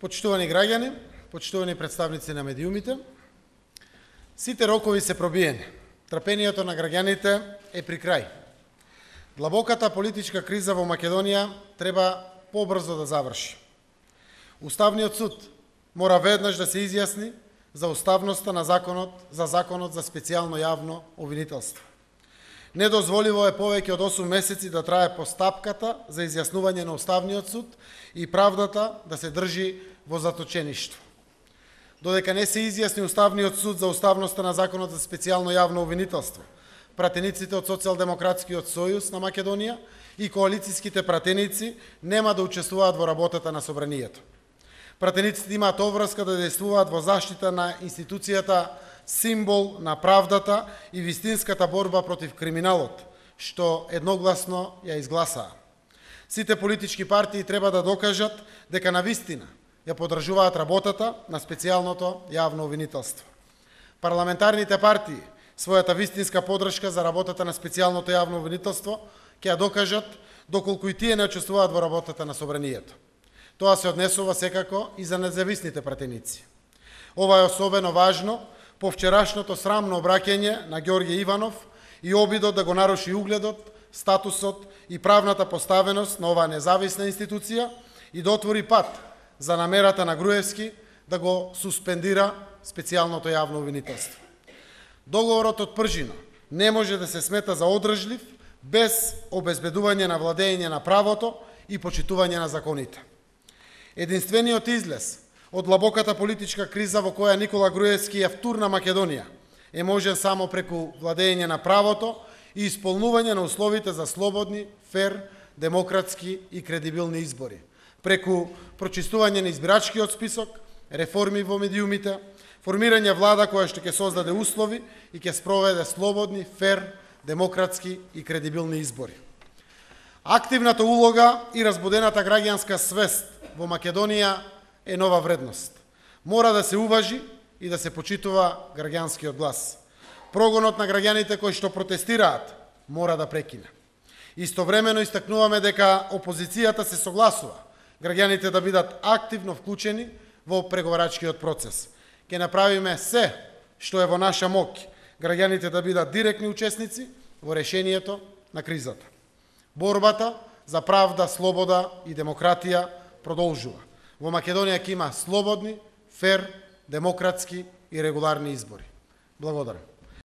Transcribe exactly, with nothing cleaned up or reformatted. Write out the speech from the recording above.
Почитувани граѓани, почитувани представници на медиумите, сите рокови се пробиени. Трпението на граѓаните е при крај. Длабоката политичка криза во Македонија треба побрзо да заврши. Уставниот суд мора веднаш да се изјасни за уставноста на законот за законот за специјално јавно обвинителство. Недозволиво е повеќе од осум месеци да трае постапката за изјаснување на Уставниот суд и правдата да се држи во заточеништво. Додека не се изјасни Уставниот суд за уставноста на законот за специјално јавно обвинителство, пратениците од Социјалдемократскиот сојуз на Македонија и коалицијските пратеници нема да учествуваат во работата на собранието. Пратениците имаат обврска да действуваат во заштита на институцијата символ на правдата и вистинската борба против криминалот, што едногласно ја изгласаа. Сите политички партии треба да докажат дека навистина ја подржуваат работата на специјалното јавно обвинителство. Парламентарните партии својата вистинска подршка за работата на специјалното јавно обвинителство ќе ја докажат доколку и тие не учествуваат во работата на собранието. Тоа се однесува секако и за независните пратеници. Ова е особено важно по вчерашното срамно обраќање на Ѓорѓе Иванов и обидот да го наруши угледот, статусот и правната поставеност на оваа независна институција и да отвори пат за намерата на Груевски да го суспендира специјалното јавно обвинителство. Договорот од Пржино не може да се смета за одржлив без обезбедување на владење на правото и почитување на законите. Единствениот излез од длабоката политичка криза во која Никола Груевски ја втурна Македонија е можен само преку владење на правото и исполнување на условите за слободни, фер, демократски и кредибилни избори, преку прочистување на избирачкиот список, реформи во медиумите, формирање влада која што ќе создаде услови и ќе спроведе слободни, фер, демократски и кредибилни избори. Активната улога и разбудената граѓанска свест во Македонија е нова вредност. Мора да се уважи и да се почитува граѓанскиот глас. Прогонот на граѓаните кои што протестираат мора да прекине. Истовремено истакнуваме дека опозицијата се согласува граѓаните да бидат активно вклучени во преговарачкиот процес. Ке направиме се што е во наша моќ граѓаните да бидат директни учесници во решението на кризата. Борбата за правда, слобода и демократија продолжува. Во Македонија ќе има слободни, фер, демократски и регуларни избори. Благодарам.